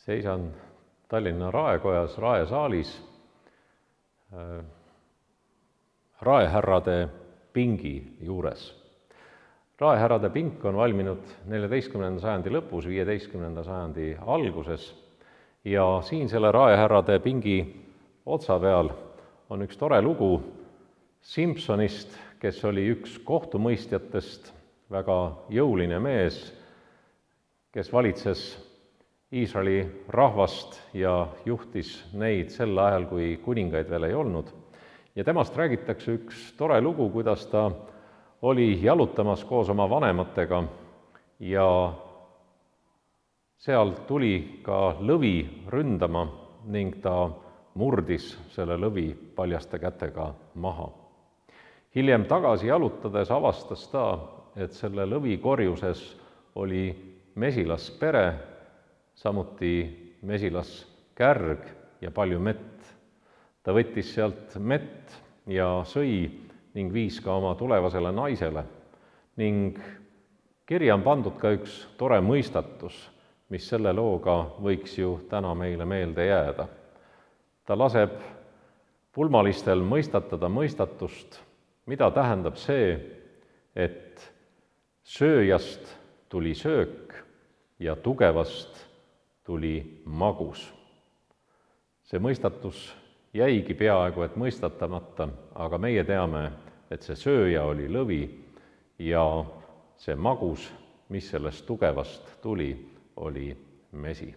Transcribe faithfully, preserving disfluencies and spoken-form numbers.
Seisan Tallinna Raekojas Raesaalis raehärrade pingi juures. Raehärrade pink on valminud neljateistkümnenda sajandi lõpus, viieteistkümnenda sajandi alguses ja siin selle raehärrade pingi otsa peal on üks tore lugu Simsonist, kes oli üks kohtumõistjatest, väga jõuline mees, kes valitses Iisraeli rahvast ja juhtis neid sel ajal, kui kuningaid veel ei olnud. Ja temast räägitakse üks tore lugu, kuidas ta oli jalutamas koos oma vanematega ja seal tuli ka lõvi ründama ning ta murdis selle lõvi paljaste kätega maha. Hiljem tagasi jalutades avastas ta, et selle lõvi korjuses oli mesilaspere, samuti mesilaskärg ja palju mett. Ta võttis sealt mett ja sõi ning viis ka oma tulevasele naisele. Ning kirja on pandud ka üks tore mõistatus, mis selle looga võiks ju täna meile meelde jääda. Ta laseb pulmalistel mõistatada mõistatust, mida tähendab see, et sööjast tuli söök ja tugevast tuli magus. See mõistatus jäigi peaaegu et mõistatamata, aga meie teame, et see sööja oli lõvi ja see magus, mis sellest tugevast tuli, oli mesi.